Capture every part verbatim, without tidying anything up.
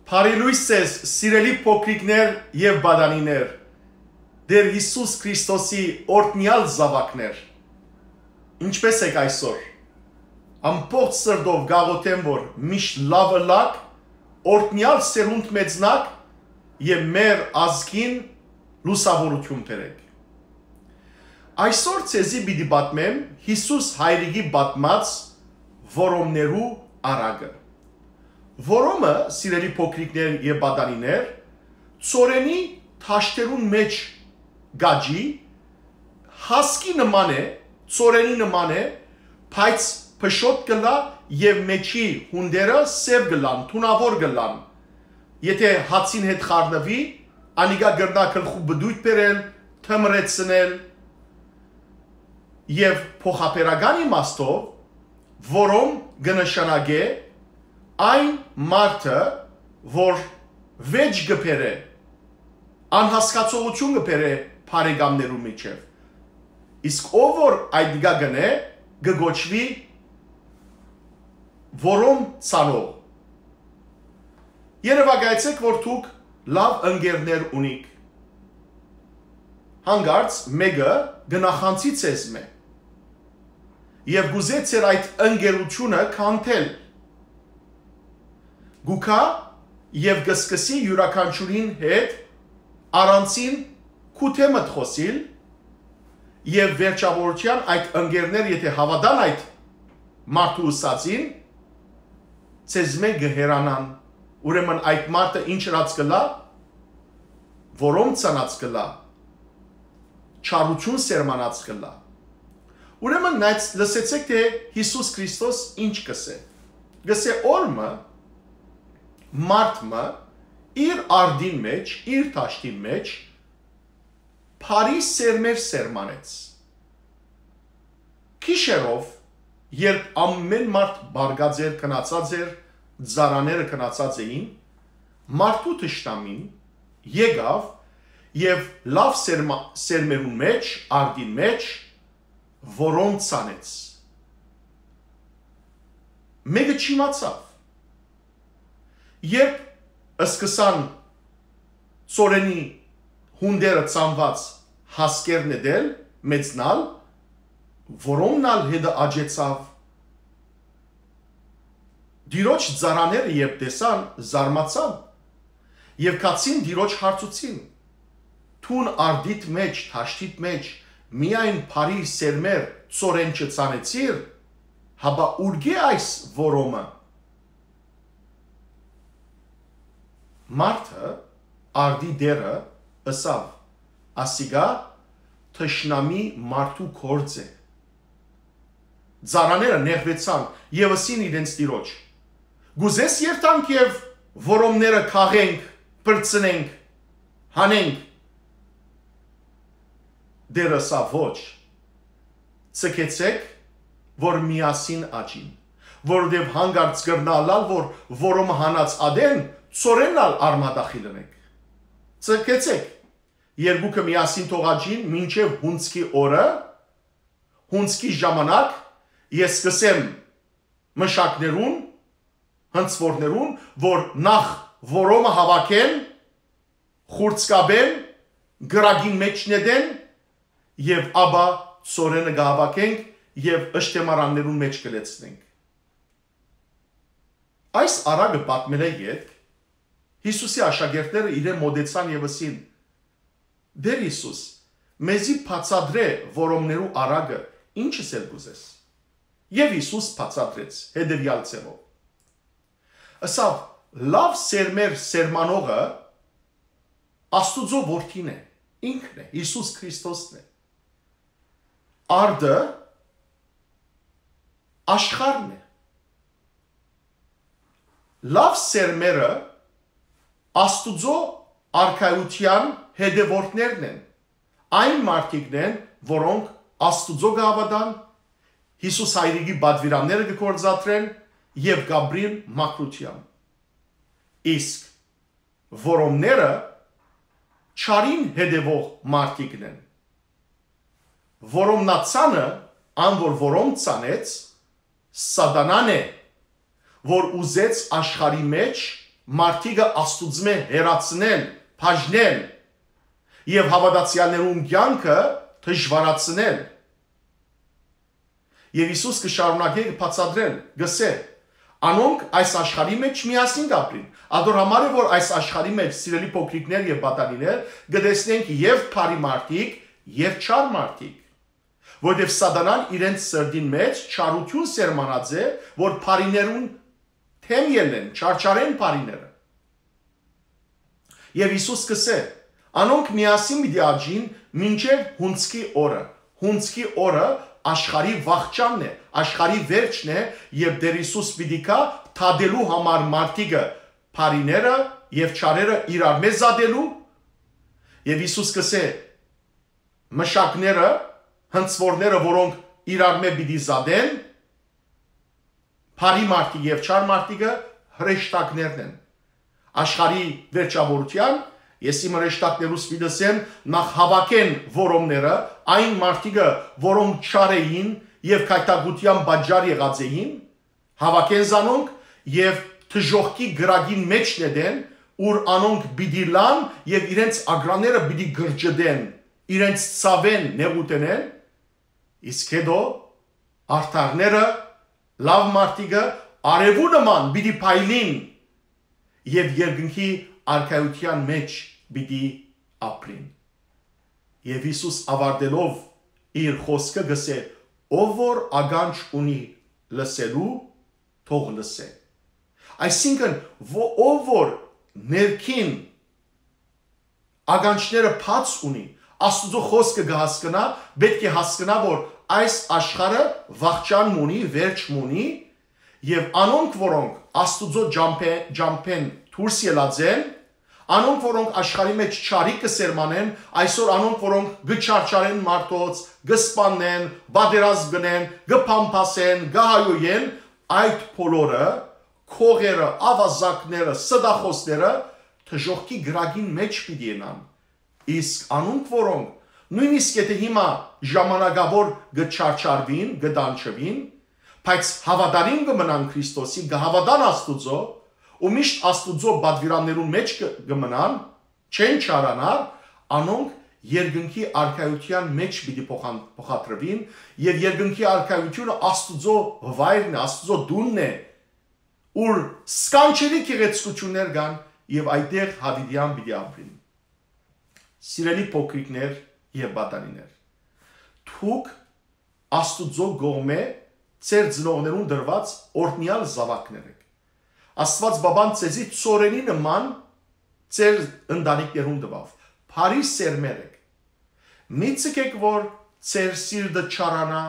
Բարի լոյս ձեզ, սիրելի փոքրիկներ եւ պատանիներ, Տէր Յիսուս Քրիստոսի օրհնեալ զաւակներ։ Ինչպէս էք այսօր։ Ամբողջ սրտով կաղոթեմ, որ միշտ լաւ ըլլաք, օրհնեալ սերունդ մեծնաք եւ մեր ազգին լուսաւորութիւն բերէք։ Այսօր ձեզի պիտի պատմեմ Յիսուս Հայրիկի պատմած որոմներու առակը։ Որոմը, սիրելի փոքրիկներ եւ պատանիներ, ծորենի թաշտերուն մէջ կաճի, հասկի նման է, ծորենի նման է, բայց փշոտ կ'ըլլայ եւ մէջի յունտերը սեւ կ'ըլլան, թունաւոր կ'ըլլան։ Եթէ հացին հետ խառնուի, անիկա կրնայ գլխու պտոյտ բերել, թմրեցնել, եւ փոխաբերական իմաստով որոմ կը նշանակէ այն մարդը, որ վէճ կը բերէ, անհասկացողութիւն կը բերէ բարեկամներու միջեւ։ Իսկ ով որ այդ կը կնէ, կը կոչուի որոմ ցանող։ Երեւակայեցէք, որ դուք լաւ ընկերներ ունիք։ Հանկարծ մէկը կը նախանձի ձեզմէ եւ կ'ուզէ ձեր այդ ընկերութիւնը քանդել։ Կու գայ եւ կը սկսի իւրաքանչիւրին հետ առանձին քու դէմդ խօսիլ եւ վերջաւորութեան այդ ընկերներ, եթէ հաւատան այդ մարդու ըսածին, ձեզմէ կը հեռանան։ Ուրեմն այդ մարդը ինչ ըրած կ'ըլլայ, որոմ ցանած կ'ըլլայ, չարութիւն սերմանած կ'ըլլայ։ Ուրեմն նայց, լսեցէք թէ Յիսուս Քրիստոս ինչ կ'ըսէ։ Կ'ըսէ. «Օր մը, մարդ մը իր արդին մէջ, իր դաշտին մէջ բարի սերմեր սերմանեց»։ Գիշերով, երբ ամէն մարդ պառկած էր, քնացած էր, ծառաները քնացած էին, մարդու թշնամին եկաւ եւ լաւ սերմա-, սերմերուն մէջ, արդին մէջ, որոմ ցանեց։ Մէկը չիմացաւ։ Երբ սկսան ծորենի յունտերը ցանուած հասկեր նետել, մեծնալ, որոմն ալ հետը աճեցաւ։ Տիրոջ ծառաները երբ տեսան, զարմացան եւ գացին Տիրոջ հարցուցին. «Դուն արդիդ մէջ, դաշտիդ մէջ միայն բարի սերմեր, ծորեն չցանեցիր, հապա ուրկէ այս որոմը»։ Մարդը, արդի տէրը, ըսաւ. «Ասիկա թշնամի մարդու գործ է»։ Ծառաները նեղուեցան եւ ըսին իրենց տիրոջ. «Կ'ուզես երթանք եւ որոմները քաղենք, պրծնենք, հանենք»։ Տէրը ըսաւ. «Ոչ, ձգեցէք, որ միասին աճին, որովհետեւ հանկարծ կրնայ ըլլալ, որ որոմը հանած ատեն ծորենն ալ արմատախիլ ընենք։ Ձգեցէք, երկուքը միասին թող աճին մինչեւ հունձքի օրը, հունձքի ժամանակ ես կ'ըսեմ մշակներուն, հնձուորներուն, որ նախ որոմը հաւաքեն, խուրձկաբեն, կրակին մէջ նետեն եւ ապա ծորենը կը հաւաքենք եւ ըշտեմարաններուն մէջ կը լեցնենք»։ Այս առակը պատմելէ ետք Յիսուսի աշակերտները իրեն մօտեցան եւ ըսին. «Տէր Յիսուս, մեզի բացատրէ որոմներու առակը, ի՞նչ ըսել կ'ուզես»։ Եւ Յիսուս բացատրեց հետեւեալ ձեւով. ըսաւ. «Լաւ սերմեր սերմանողը Աստուծոյ որդին է, ինքն է, Յիսուս Քրիստոսն է։ Արդը աշխարհն է։ Լաւ սերմերը Աստուծոյ արքայութեան հետեւորդներն են, այն մարդիկն են, որոնք Աստուծոյ կը հաւատան, Յիսուս Հայրիկի պատուիրանները կը գործադրեն եւ կ'ապրին մաքրութեան։ Իսկ որոմները չարին հետեւող մարդիկն են։ Որոմնացանը, ան որ որոմ ցանեց, Սատանան է, որ ուզեց աշխարհի մէջ մարդիկը Աստուծմէ հեռացնել, բաժնել եւ հաւատացեալներուն կեանքը դժուարացնել։ Եւ Յիսուս կը շարունակէ կը բացատրել, կ'ըսէ. «Անոնք այս աշխարհի մէջ միասին կ'ապրին»։ Ատոր համար է, որ այս աշխարհի մէջ, սիրելի փոքրիկներ եւ պատանիներ, կը տեսնենք եւ բարի մարդիկ, եւ չար մարդիկ, որովհետեւ Սատանան իրենց սրտին մէջ չարութիւն սերմանած է, որ բարիներուն դէմ ելլեն, չարչարեն բարիները։ Եւ Յիսուս կ'ըսէ. «Անոնք միասին պիտի աճին մինչեւ հունձքի օրը»։ Հունձքի օրը աշխարհի վախճանն է, աշխարհի վերջն է, եւ Տէր Յիսուս պիտի գայ դատելու համար մարդիկը, բարիները եւ չարերը իրարմէ զատելու։ Եւ Յիսուս կ'ըսէ. «Մշակները, հնձուորները, որոնք իրարմէ պիտի զատեն, բարի մարդիկ եւ չար մարդիկը հրեշտակներն են»։ Աշխարհի վերջաւորութեան ես իմ հրեշտակներուս պիտի ըսեմ. «Նախ հաւաքեն որոմները, այն մարդիկը, որոնք չար էին եւ քայթակութեան պատճառ եղած էին, հաւաքեն զանոնք եւ դժոխքի կրակին մէջ նետեն, ուր անոնք պիտի լան եւ իրենց ակռաները պիտի կրճտեն, իրենց ցաւէն նեղութենէն, իսկ հետո արդարները, լաւ մարդիկը արեւու նման պիտի փայլին եւ երկնքի արքայութեան մէջ պիտի ապրին»։ Եւ Յիսուս, աւարտելով իր խօսքը, կ'ըսէ. «Ով որ ականջ ունի լսելու, թող լսէ»։ Այսինքն, ո-, ով որ ներքին ականջները բաց ունի, Աստուծոյ խօսքը կը հասկնայ, պէտք է հասկնայ, որ այս աշխարհը վախճան մ'ունի, վերջ մ'ունի, եւ անոնք, որոնք Աստուծոյ ճամբէ-, ճամբէն դուրս ելած են, անոնք, որոնք աշխարհի մէջ չարիք կը սերմանեն, այսօր անոնք, որոնք կը չարչարեն մարդոց, կը սպաննեն, պատերազմ կ'ընեն, կը բամբասեն, կը հայոյեն, այդ բոլորը, քողերը, աւազակները, ստախօսները դժոխքի կրակին մէջ պիտի ըլլան։ Իսկ անոնք, որոնք նոյնիսկ եթէ հիմա ժամանակաւոր կը չարչարուին, կը տանջուին, բայց հաւատարիմ կը մնան Քրիստոսի, կը հաւատան Աստուծոյ ու միշտ Աստուծոյ պատուիրաններուն մէջ կը, կը մնան, չեն չարանար, անոնք երկնքի արքայութեան մէջ պիտի փոխան-, փոխադրուին, եւ երկնքի արքայութիւնը Աստուծոյ վայրն է, Աստուծոյ տունն է, ուր սքանչելի գեղեցկութիւններ կան, եւ այդտեղ յաւիտեան պիտի ապրին։ Սիրելի փոքրիկներ եւ պատանիներ, դուք Աստուծոյ կողմէ ձեր ծնողներուն տրուած օրհնեալ զաւակներ էք։ Աստուած Պապան ձեզի ծորենի նման ձեր ընտանիքներուն տուաւ։ Բարի սերմեր էք։ Մի ձգէք, որ ձեր սիրտը չարանայ,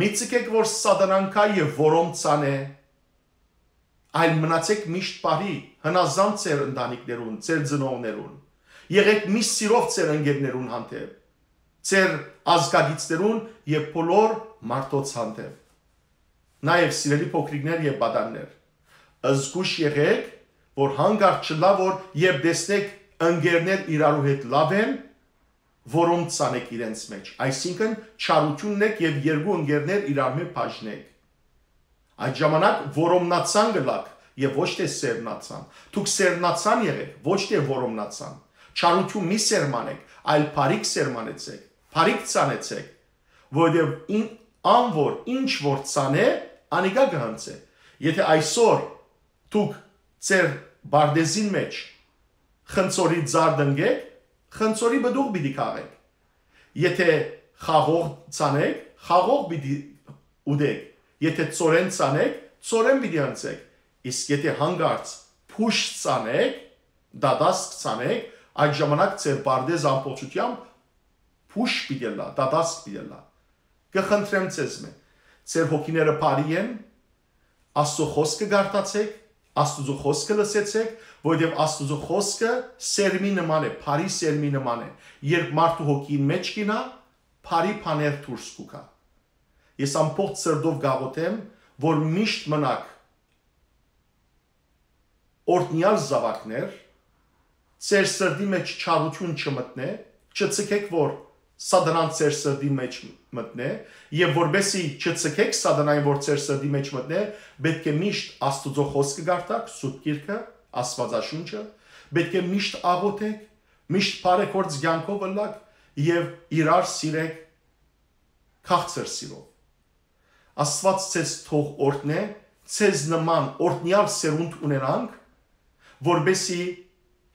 մի ձգէք, որ Սատանան գայ եւ որոմ ցանէ, այլ մնացէք միշտ բարի, հնազանդ ձեր ընտանիքներուն, ձեր ծնողներուն։ Եղէք միշտ սիրով ձեր ընկերներուն հանդէպ, ձեր ազգակիցներուն եւ բոլոր մարդոց հանդէպ։ Նաեւ, սիրելի փոքրիկներ եւ պատաններ, զգոյշ եղէք, որ հանկարծ չըլլայ, որ երբ տեսնէք ընկերներ իրարու հետ լաւ են, որոմ ցանէք իրենց մէջ, այսինքն՝ չարութիւնն էք եւ երկու ընկերներ իրարմէ բաժնէք։ Այդ ժամանակ որոմնացան կ'ըլաք եւ ոչ թէ սերմնացան։ Դուք սերմնացան եղէք, ոչ թէ որոմնացան։ Չարութիւն մի սերմանէք, այլ բարիք սերմանեցէք, բարիք ցանեցէք, որովհետեւ ին-, ան որ ինչ որ ցանէ, անիկա կը հնձէ։ Եթէ այսօր դուք ձեր պարտէզին մէջ խնձորի ծառ տնկէք, խնձորի պտուղ պիտի քաղէք։ Եթէ խաղող ցանէք, խաղող պիտի ուտէք, եթէ ծորեն ցանէք, ծորեն պիտի հնձէք, իսկ եթէ հանկարծ փուշ ցանէք, դատասկ ցանէք, այդ ժամանակ ձեր պարտէզը ամբողջութեամբ փուշ պիտի ըլլայ, դատասկ պիտի ըլլայ։ Կը խնդրեմ ձեզմէ, ձեր հոգիները բարի են, Աստուծոյ խօսքը կարդացէք, Աստուծոյ խօսքը լսեցէք, որովհետեւ Աստուծոյ խօսքը սերմի նման է, բարի սերմի նման է։ Երբ մարդու հոգին մէջ կ'իյնայ, բարի բաներ դուրս կու գայ։ Ես ամբողջ սրտով կ'աղօթեմ, որ միշտ մնաք օրհնեալ զաւակներ, ձեր սրտի մէջ չարութիւն չմտնէ, չձգէք, որ Սատանան ձեր սրտի մէջ մտնէ, եւ որպեսզի չձգէք Սատանային, որ ձեր սրտի մէջ մտնէ, պէտք է միշտ Աստուծոյ խօսքը կարդաք, Սուրբ Գիրքը, Աստուածաշունչը, պէտք է միշտ աղօթէք, միշտ բարեգործ կեանքով ըլլաք եւ իրար սիրէք քաղցր սիրով։ Աստուած ձեզ թող օրհնէ, ձեզ նման օրհնեալ սերունդ ունենանք, որպեսզի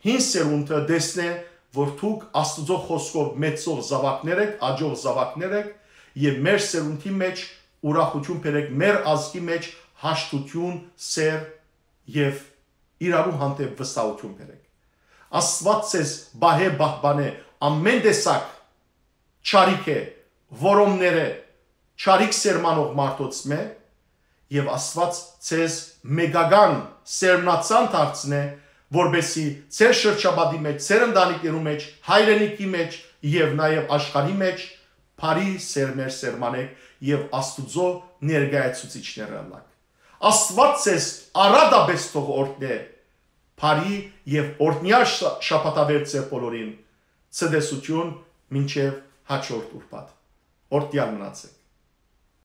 հին սերունդը տեսնէ, որ դուք Աստուծոյ խօսքով մեծցող զաւակներ էք, աճող զաւակներ էք եւ մեր սերունդի մէջ ուրախութիւն բերէք, մեր ազգի մէջ հաշտութիւն, սեր եւ իրարու հանդէպ վստահութիւն բերէք։ Աստուած ձեզ պահէ, պահպանէ ամէն տեսակ չարիքէ, որոմներէ, չարիք սերմանող մարդոց մէ, եւ Աստուած ձեզ մեկական սերմնացան դարձնէ, որպեսզի ձեր շրջապատի մէջ, ձեր ընտանիքներու մէջ, հայրենիքի մէջ եւ նաեւ աշխարհի մէջ բարի սերմեր սերմանէք եւ Աստուծոյ ներկայացուցիչներ ըլլաք։ Աստուած ձեզ առատապէս թող օրհնէ, բարի եւ օրհնեալ շա-, շաբաթավեր ձեր բոլորին, ցտեսութիւն մինչեւ հաջորդ ուրբաթ։ Օրհնեալ մնացէք։